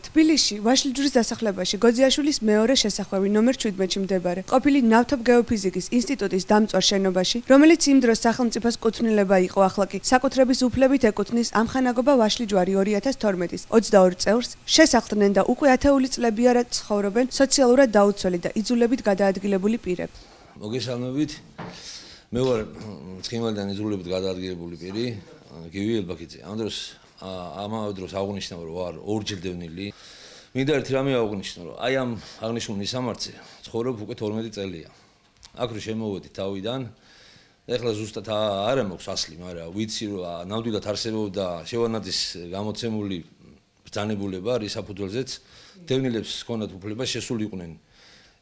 თბილისში, ვაშლიჯვრის დასახლებაში გოძიაშვილის მეორე შესახვევი ნომერ 17-ში მდებარე, ყოფილი ნავთობგეოფიზიკის ინსტიტუტის დამწვარ შენობაში, რომელიც იმ დროს სახელმწიფოს კუთვნილება იყო, ახლა კი საკუთრების უფლებით ეკუთვნის ამხანაგობა ვაშლიჯვარი 2012-ის 22 წევრს, შესახდნენ და უკვე ათეული წლებია რა ცხოვრობენ სოციალურად დაუცველი და იძულებით გადაადგილებული პირები. მოგესალმებით. მე ვარ ცხინვალიდან იძულებით გადაადგილებული პირი, გივი ელბაქიძე. ამავე დროს აღნიშნავ, რომ ვარ ორჯერ დევნილი. მინდა ერთი რამე აღნიშნო, რომ აი ამ აღნიშნული სამართზე ცხოვრობ უკვე 12 წელია. აქ რო შემოვედი თავიდან, ეხლა ზუსტად არ მაქვს ასლი, მაგრამ ვიცი რომ ნამდვილად არსებობდა შევანაძის გამოცემული ბრძანებულება რის საფუძველზეც დევნილებს ჰქონდათ უფლება შესულიყვნენ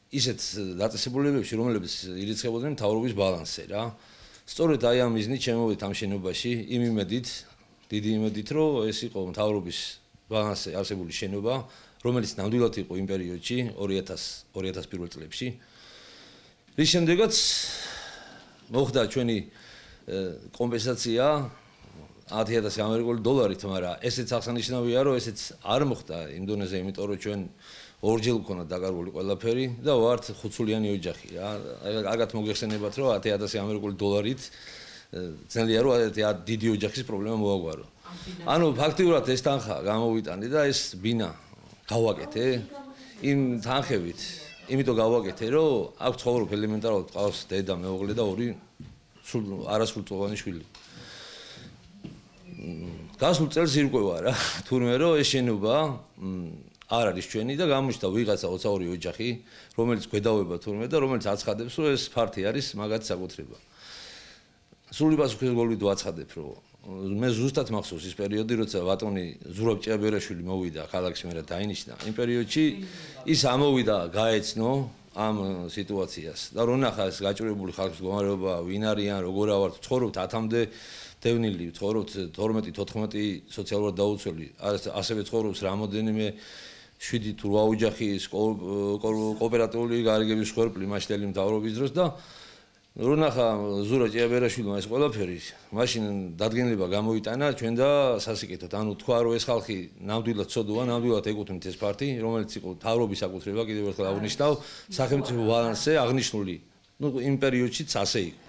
ისეთ დაწესებულებებში, რომლებიც ირიცხებოდნენ მთავრობის ბალანსზე რა. სწორედ აი ამ მიზნით შემოვედი ამ შენობაში, იმ იმედით, დიდი იმედით, რომ ეს იყო მთავრობის ბალანსზე არსებული შენობა, რომელიც ნამდვილად იყო იმ პერიოდში 2001 წლებში. რის შემდეგაც მოხდა ჩვენი კომპენსაცია 10,000 ამერიკული დოლარით, მაგრამ ესეც აღსანიშნავია, რომ ესეც არ მოხდა იმ დონეზე, იმიტომ რომ ჩვენ ორჯერ ვქონდა დაკარგული ყველაფერი და ვართ ხუთსულიანი ოჯახი რა. კარგად მოგეხსენებათ, რომ 10,000 ამერიკული დოლარით ძნელია რომ დიდი ოჯახის პრობლემა მოაგვარო. ანუ ფაქტიურად ეს თანხა გამოვიტანე და ეს ბინა გავაკეთე იმ თანხებით, იმიტომ გავაკეთე, რომ აქ ცხოვრობ ელემენტარულად ყავს დედა, მეუღლე და ორი არასრულწლოვანი შვილი. გასულ წელს ირკვევა რა, თურმე რომ ეს შენობა არ არის ჩვენი და გამოჩნდა ვიღაცა 22 ოჯახი, რომელიც გვედავება თურმე და რომელიც აცხადებს, რომ ეს ფართი არის მაგათი საკუთრება. სრული პასუხისმგებლობით ვაცხადებ, რომ მე ზუსტად მახსოვს ის პერიოდი, როცა ბატონი ზურაბ ჭიაბერაშვილი მოვიდა ქალაქში, მე რა დაინიშნა. იმ პერიოდში ის ამოვიდა გაეცნო ამ სიტუაციას და რო ნახა ეს გაჭირებული ხალხის მდგომარეობა, ვინ არიან, როგორ ავართ, ცხოვრობთ 10-მდე დევნილი, ცხოვრობთ 12-14 სოციალურად დაუცველი, ასევე ცხოვრობს რამოდენიმე 7 თუ 8 ოჯახის კოოპერატიული გარიგების ხერხი მაშინდელი მთავრობის დროს და რო ნახა ზურაბ ჭიაბერაშვილმა ეს ყველაფერი, მაშინ დადგენილება გამოიტანა ჩვენ და სასიკეთოდ. ანუ თქვა რომ ეს ხალხი ნამდვილად ცოდოა, ნამდვილად ეკუთვნით ეს ფართი, რომელიც იყო მთავრობის საკუთრება, კიდევ ერთხელ აღნიშნავ, სახელმწიფო ბალანსზე აღნიშნული. იმ პერიოდშიც ასე იყო.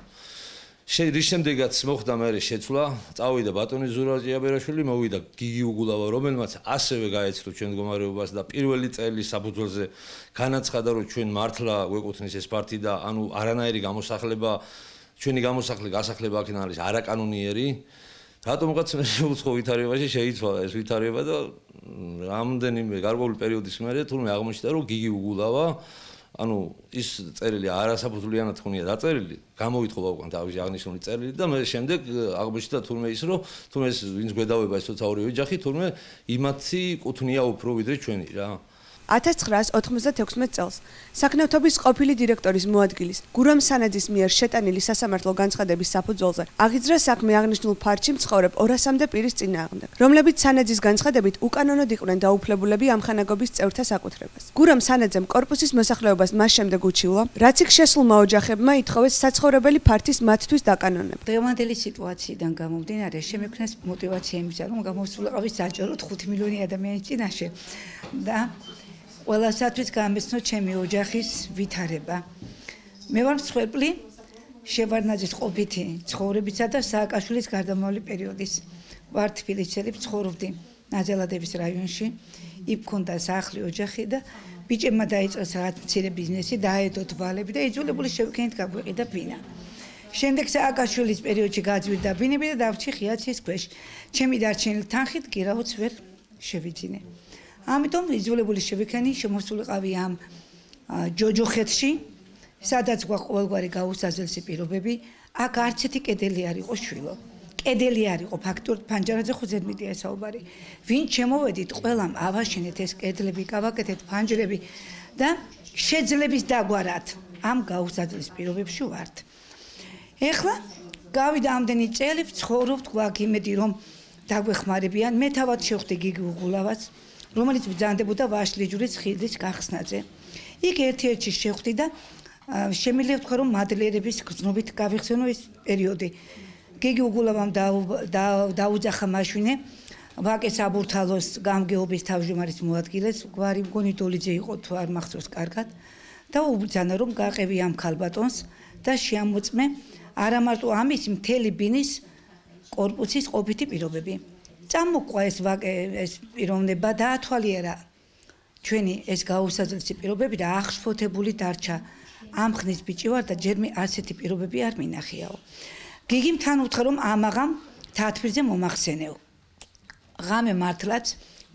რის შემდეგაც მოხდა მე შეცვლა, წავიდა ბატონი ზურაბ ჭიაბერაშვილი, მოვიდა გიგი უგულავა, რომელმაც ასევე გაეცნო ჩვენ მდგომარეობას და პირველი წელის საფუძველზე განაცხადა, რომ ჩვენ მართლა გვეკუთვნის ეს ფართი და ანუ არანაირი გამოსახლება, ჩვენი გასახლება აქედან არის არაკანონიერი. რატომღაც მე უცხო ვითარებაში შეიცვალა ეს ვითარება და რამდენიმე გარკვეული პერიოდის მერე თურმე აღმოჩნდა, რომ გიგი უგულავა ანუ ის წერილი არასაფუძვლიანად ხონია დაწერილი, გამოვითხოვა უკან თავისი აღნიშნული წერილი და მე შემდეგ აღმოჩნდა თურმე ის, რომ თურმე ეს ვინც გვედავება ეს 22 ოჯახი, თურმე იმათი კუთვნია უფრო ვიდრე ჩვენი რა. 1996 წელს საქმიანობის ყოფილი დირექტორის მოადგილის გურამ სანაძის მიერ შეტანილი სასამართლო განცხადების საფუძველზე აღიძრა საქმე აღნიშნულ ფართში მცხოვრებ 200-მდე პირის წინააღმდეგ, რომლებიც სანაძის განცხადებით უკანონოდ იყვნენ დაუფლებულები ამხანაგობის წევრთა საკუთრებას. გურამ სანაძემ კორპუსის მოსახლეობას მას შემდეგ უჩივლა, რაც იქ შესულმა ოჯახებმა ითხოვეს საცხოვრებელი ფართის მათთვის დაკანონება. დღევანდელი სიტუაციიდან გამომდინარე, შემექმნეს мотиваცია იმისა, რომ გამოსულიყავი საჭიროდ 5 მილიონი ადამიანის წინაშე და ყველასათვის გამეცნო ჩემი ოჯახის ვითარება. მე ვარ მსხვერპლი შევარდნაძის ყოფითი ცხოვრებისა და სააკაშვილის გარდამავალი პერიოდის. ვარ თბილისელი, ცხოვრობდი ნაძელადების რაიონში, იქ მქონდა სახლი, ოჯახი და ბიჭებმა დაიწყეს რაღაც მცირე ბიზნესი, დაედო თვალები და იძულებული შევქენით გაგვიყიდა ბინა. შემდეგ სააკაშვილის პერიოდში გაძვირდა ბინები და დავრჩი ხიაცის ქვეშ. ჩემი დარჩენილი თანხით გირაოც ვერ შევიძინე. ამიტომ იძულებული შევიქენი შემოსულიყავი ამ ჯოჯოხეთში, სადაც გვაქვს ყოველგვარი გაუსაზრდელი პირობები. აქ არც ერთი კედელი არ იყო შვილო. კედელი არ იყო ფაქტურად ფანჯარაზე ხო ზედმეტია საუბარი. ვინ შემოვედით, ყველამ ავაშენეთ ეს კედლები, გავაკეთეთ ფანჯრები და შეძლების დაგვარად ამ გაუსაზრდელი პირობებში ვართ. ეხლა გავიდა ამდენი წელი, ვცხოვრობთ გვაქვს იმედი რომ დაგვეხმარებიან. მე თავად შევხვდი გიგი უგულავას, რომელიც ბრძანდებოდა ვაშლიჯვრის ხიდის გახსნაზე. იქ ერთ-ერთი შევხვდი და შემიძლია ვთქვა, რომ მადლიერების გრძნობით გავიხსენო ეს პერიოდი. გიგი უგულავამ დაუძახა მაშვინე ვაკე საბურთალოს გამგეობის თავმჯდომარის მოადგილეს, გვარი მგონი დოლიძე იყო თუ არ მახსოვს კარგად და უბრძანა რომ გაყევი ამ ქალბატონს და შეამოწმე არა მარტო ამის მთელი ბინის კორპუსის ყოფითი პირობები. წამოყვა ეს ვაკე ეს პიროვნება და ათვალიერა ჩვენი ეს გაუსაძლისი პირობები და აღშფოთებული დარჩა. ამ ხნის ბიჭი ვარ და ჯერმე ასეთი პირობები არ მინახიაო. გიგიმ თან უთხრა რომ ამაღამ თათბირზე მომახსენეო. ღამე მართლაც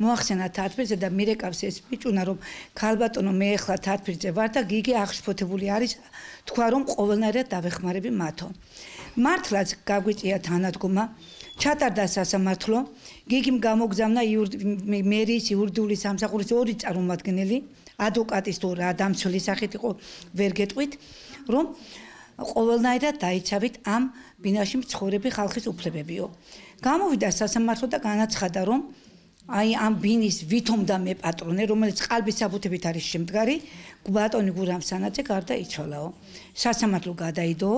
მოახსენა თათბირზე და მირეკავს ეს ბიჭუნა რომ ქალბატონო მე ახლა თათბირზე ვარ და გიგი აღშფოთებული არის თქვა რომ ყოველნაირად დავეხმარები მათო. მართლაც გაგვიწია თანადგომა ჩატარდა სასამართლო გიგიმ გამოგზავნა მერიის იურიდიული სამსახურის ორი წარმომადგენელი ადვოკატის თუ რა დამცველი სახით იყო ვერ გეტყვით რომ ყოველნაირად დაიცავით ამ ბინაში მცხოვრები ხალხის უფლებებიო. გამოვიდა სასამართლო და განაცხადა რომ აი ამ ბინის ვითომდა მე პატრონე რომელიც ყალბის საბუთებით არის შემდგარი ბატონი გურამ სანაძე გარდაიცვალაო. სასამართლო გადაიდო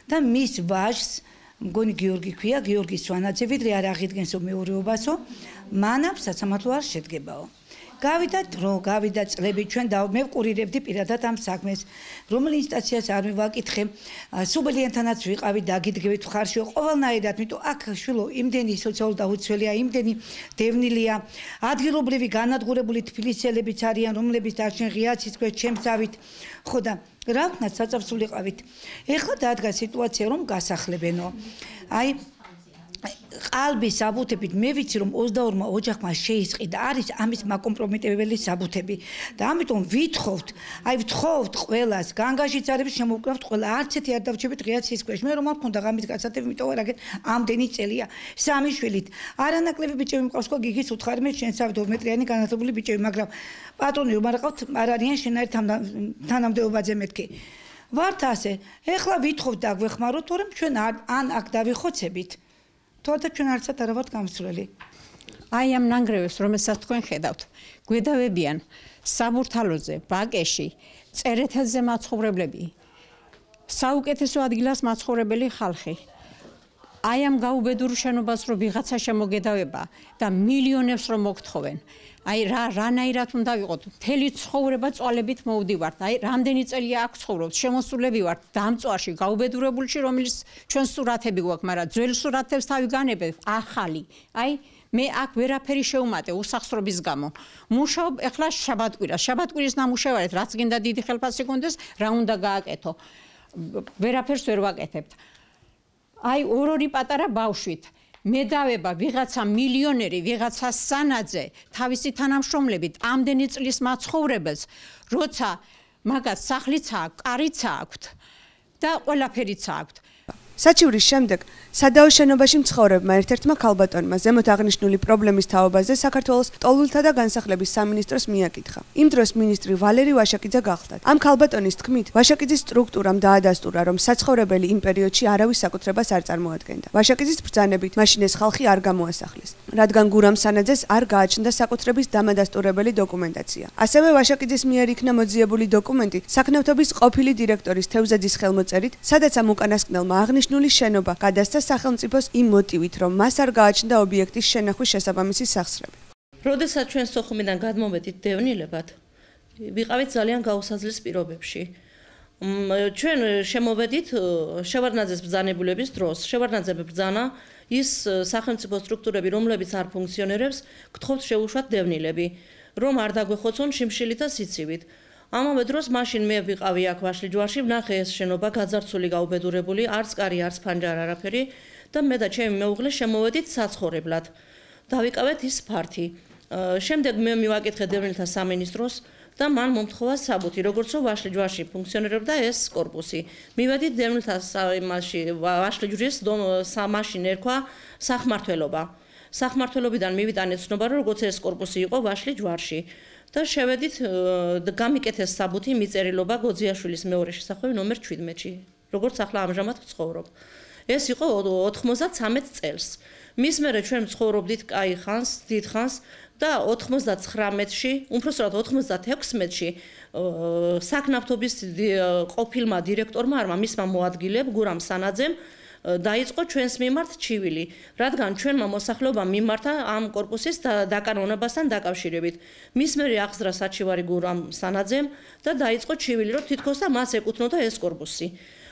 და მის ვაჟს მგონი გიორგი ქვია გიორგი სვანაძე ვიდრე არ აღიდგენსო მეურვეობასო მანამ სასამართლო არ შედგებაო. გავიდა დრო, გავიდა წლები ჩვენ და მე ვკურირებდი პირადად ამ საქმეს. რომელ ინსტანციას არ მივაკითხე, სუბლიენთანაც ვიყავი დაგიდგებით ხარშიო ყოველნაირად, იმიტომ აქ შვილო იმდენი სოციალურ დაუცველია, იმდენი დევნილია, ადგილობრივი განადგურებული თბილისელებიც არიან, რომლებიც დარჩენ ღიაცის ქვეშ ჩემსავით. ხო და რა ვქნათ საწაფსულიყავით. ეხლა დადგა სიტუაცია რომ გასახლებენო. აი ყალბის საბუთებით მე ვიცი რომ 22-მა ოჯახმა შეისყიდა არის ამის მაკომპრომიტებელი საბუთები და ამიტომ ვითხოვთ ყველას განგაშიც არის შემოვკრავთ ყველა არც ერთი არ დავჩებით ღიაცის ქვეშ მე რომ არ მქონდა ღამის გასათები იმიტომ რა ამდენი წელია სამი შვილით არანაკლები ბიჭები მყავს ხო გიგის უთხარი მე შენსავით 2 მეტრიანი განათლებული ბიჭები მაგრამ პატრონი რომ არ ყავთ არ არიან შენარი თანამდებობაზე მეთქი ვართ ასე ეხლა ვითხოვთ და გვეხმაროთ თორემ ჩვენ ან აქ დავიხოცებით თორე ჩვენ არცად არ ვართ გამსვლელი. აი ამ ნანგრევებს, რომელსაც თქვენ ხედავთ, გვედავებიან საბურთალოზე, ვაკეში, წერეთელზე მაცხოვრებლები, საუკეთესო ადგილას მაცხოვრებელი ხალხი. აი ამ გაუბედურ შენობას რო ვიღაცა შემოგედავება და მილიონებს რო მოგთხოვენ. აი რანაირად უნდა ვიყოთ, მთელი ცხოვრება წვალებით მოვდივართ. აი რამდენი წელია აქ ცხოვრობთ, შემოსულები ვართ დამწვარში, გაუბედურებულში, რომელიც ჩვენ სურათები გვაქვს, მაგრამ ძველ სურათებს თავი განებებ, ახალი. აი მე აქ ვერაფერი შეუმატე უსახსრობის გამო. მუშაობ ეხლა შაბათკვირის ნამუშევარით, რაც გინდა დიდი ხელფასი გქონდეს, რა უნდა გააკეთო. ვერაფერს ვერ ვაკეთებთ. აი ორ-ორი პატარა ბავშვით მედავება ვიღაცა მილიონერი, ვიღაცა სანაძე, თავისი თანამშრომლებით ამდენი წლის მაცხოვრებელს, როცა მაგას სახლიც აქვს, კარიც აქვს და ყველაფერიც აქვს. საჩივრის შემდეგ სადაო შენობაში მცხოვრებმა ერთ-ერთმა ქალბატონმა ზემოთ აღნიშნული პრობლემის თაობაზე საქართველოს ტოლულთა და განსახლების სამინისტროს მიაკითხა. იმ დროს მინისტრი ვალერი ვაშაკიძე გახლდათ. ამ ქალბატონის თქმით, ვაშაკიძის სტრუქტურამ დაადასტურა, რომ საცხოვრებელი იმ პერიოდში არავის საკუთრებას არ წარმოადგენდა. ვაშაკიძის ბრძანებით მაშინ ეს ხალხი არ გამოასახლეს, რადგან გურამ სანაძეს არ გააჩნდა საკუთრების დამადასტურებელი დოკუმენტაცია. ასევე ვაშაკიძის მიერ იქნა მოძიებული დოკუმენტი საქმიანობის ყოფილი დირექტორის თევზაძის ხელმოწერით, სადაც ამ უკანასკნელმა აღნიშნული შენობა გადასცა სახელმწიფოს იმ მოტივით, რომ მას არ გააჩნდა ობიექტის შენახვის შესაბამისი სახსრები. როდესაც ჩვენ სოხუმიდან გადმოვედით დევნილებად, ვიყავით ძალიან გაუსაძლეს პირობებში. ჩვენ შემოვედით შევარდნაძეს ბრძანებულების დროს. შევარდნაძე ბრძანა ის სახელმწიფო სტრუქტურები, რომლებიც არ ფუნქციონირებს, გთხოვთ შეუშვათ დევნილები, რომ არ დაგვეხოცონ შიმშილით და სიცივით. ამავე დროს მაშინ მე ვიყავი აქ ვაშლიჯვარში, ვნახე ეს შენობა გაძარცვული, გაუბედურებული, არც კარი, არც ფანჯარა, არაფერი და მე და ჩემი მეუღლე შემოვედით საცხოვრებლად. დავიკავეთ ის ფართი. შემდეგ მე მივაკითხე დევნილთა სამინისტროს და მან მომთხოვა საბუთი, როგორც რომ ვაშლიჯვარში ფუნქციონირებდა ეს კორპუსი. მივედით დევნილთა ვაშლიჯვრის მაშინ ერქვა სახმართველობა. სახმართველობიდან მივიტანეთ ცნობა, რომ როგორც ეს კორპუსი იყო ვაშლიჯვარში. და შევედით გამიკეთეს საბუთი მიწერილობა გოძიაშვილის მეორე შესახვევი ნომერ 17-ში, როგორც ახლა ამჟამად ვცხოვრობ. ეს იყო 93 წელს. მის მერე ჩვენ ვცხოვრობდით კაი ხანს, დიდ ხანს და 99-ში, უმფროსწორად 96-ში საქმიანობის ყოფილმა დირექტორმა არმა მისმა მოადგილემ გურამ სანაძემ დაიწყო ჩვენს მიმართ ჩივილი, რადგან ჩვენმა მოსახლეობამ მიმართა ამ კორპუსის დაკანონებასთან დაკავშირებით. მის მერე აღზრა საჩივარი გურამ სანაძემ და დაიწყო ჩივილი, რომ თითქოს და მას ეკუთვნოდა ეს კორპუსი.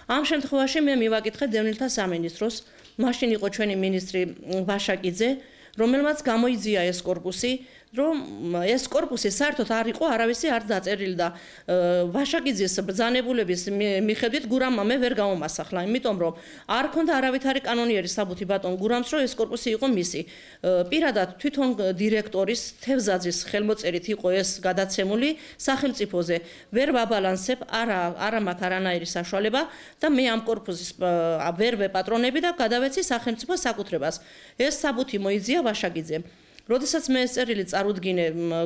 ამ შემთხვევაში მე მივაკითხე დევნილთა სამინისტროს, მაშინ იყო ჩვენი მინისტრი ვაშაკიძე, რომელმაც გამოიძია ეს კორპუსი, რომ ეს კორპუსი საერთოდ არ იყო არავისი არ დაწერილი და ვაშაკიძის ბრძანებულების მიხედვით გურამმა მე ვერ გამომასახლა, იმიტომ რომ არ ქონდა არავითარი კანონიერი საბუთი ბატონ გურამს, რომ ეს კორპუსი იყო მისი. პირადად თვითონ დირექტორის თევზაძის ხელმოწერით იყო ეს გადაცემული სახელმწიფოზე. ვერ ვაბალანსებ, არა მაქვს არანაირი საშუალება და მე ამ კორპუსის ვერ ვეპატრონები და გადავეცი სახელმწიფოს საკუთრებას. ეს საბუთი მოიძია ვაშაკიძემ. როდესაც მე ეს წერილი წარუდგინე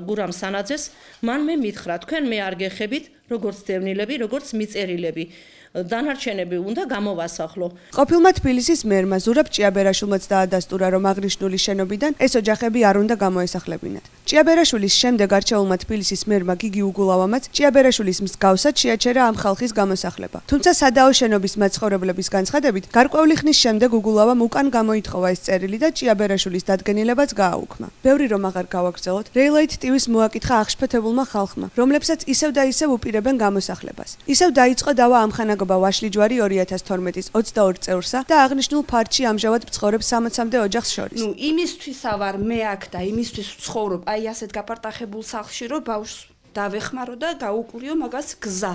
გურამ სანაძეს, მან მე მითხრა, თქვენ მე არ გეხებით, როგორც დევნილები, როგორც მიწერილები. დანარჩენები უნდა გამოვასახლო. ყოფილმა თბილისის მერმა ზურაბ ჭიაბერაშვილმაც დაადასტურა, რომ აღნიშნული შენობიდან ეს ოჯახები არ უნდა გამოესახლებინათ. ჭიაბერაშვილის შემდეგ არჩეულმა თბილისის მერმა გიგი უგულავამაც ჭიაბერაშვილის მსგავსად შეაჩერა ამ ხალხის გამოსახლება. თუმცა სადაო შენობის მაცხოვრებლების განცხადებით, გარკვეული ხნის შემდეგ უგულავამ უკან გამოითხოვა ეს წერილი და ჭიაბერაშვილის დადგენილებაც გააუქმა. ბევრი რომ აღარ გავაგრძელოთ, რეილაით ტივის მოაკითხა აღშფოთებულმა ხალხმა, რომლებსაც ისევ და ისევ უპირებენ გამოსახლებას. ისევ დაიწყო დავა ამხანაგობა ვაშლიჯვარი 2012-ის 22 წევრსა და აღნიშნულ ფარჩი ამჟამად მცხოვრებ 60-მდე ოჯახს შორის. იმისთვისა ვარ მე აქ და იმისთვის ვცხოვრობ აი ასეთ გაპარტახებულ სახლში, რომ ბავშვს დავეხმარო და გაუკვლიო მაგას გზა.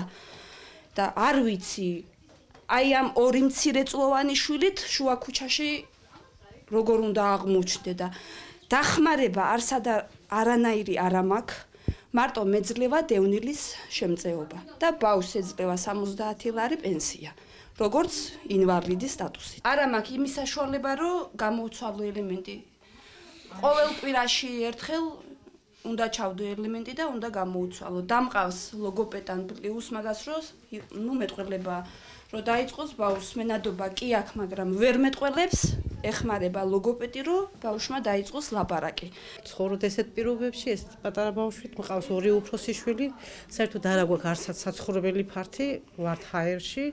და არ ვიცი, აი ამ ორი მცირეწლოვანი შვილით შუა ქუჩაში როგორ უნდა აღმოჩნდე და დახმარება არსადა არანაირი არ მაქვს. მარტო მეძლევა დევნილის შემწეობა და ბავშვს ეძლევა 70 ლარი პენსია, როგორც ინვალიდის სტატუსით. არა მაქვს იმის საშუალება, რომ გამოვცვალო ელემენტი. ყოველ კვირაში ერთხელ უნდა ჩავდო ელემენტი და უნდა გამოვცვალო. დამყავს ლოგოპედან პლუს მაგას რომ მეტყველება რომ დაიწყოს ბავშვს მენადობა კი აქვს, მაგრამ ვერ მეტყველებს, ეხმარება ლოგოპედი, რომ ბავშვმა დაიწყოს ლაპარაკი. ცხოვრობ ესეთ პირობებში, ესეთ პატარა ბავშვით, მყავს ორი უფროსი შვილი, საერთოდ არ აქვს არცაც საცხოვრებელი ფართი, ვართ ჰაერში.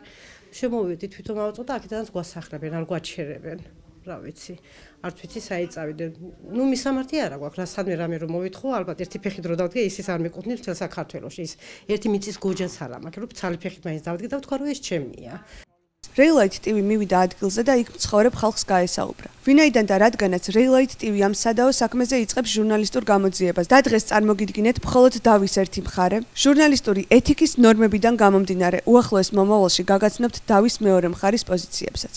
შემოვიდი თვითონ ავწოდა, აქედანაც გვასახლებენ, არ გვაჩერებენ. რა ვიცი, არც ვიცი საიწავიდე. მისამართი არ აქვს, რა სადმე რამე რომ მოვითხოვო, ალბათ ერთი ფეხი დრო დავდგე, ისიც არ მეკუთვნილ მთელ საქართველოში. ის ერთი მიწის გოჯას არ მაქვს, რომ ცალი ფეხით მაინც დავდგე და ვთქვა, რომ ეს ჩემია. რეილაით ტივი მივიდა ადგილზე და იქ მცხოვრებ ხალხს გაესაუბრა. ვინაიდან და რადგანაც რეილაით ტივი ამ სადაო საქმეზე იწყებს ჟურნალისტურ გამოძიებას და დღეს წარმოგიდგინეთ მხოლოდ დავის ერთი მხარე, ჟურნალისტური ეთიკის ნორმებიდან გამომდინარე, უახლოეს მომავალში გაგაცნობთ დავის მეორე მხარის პოზიციებსაც.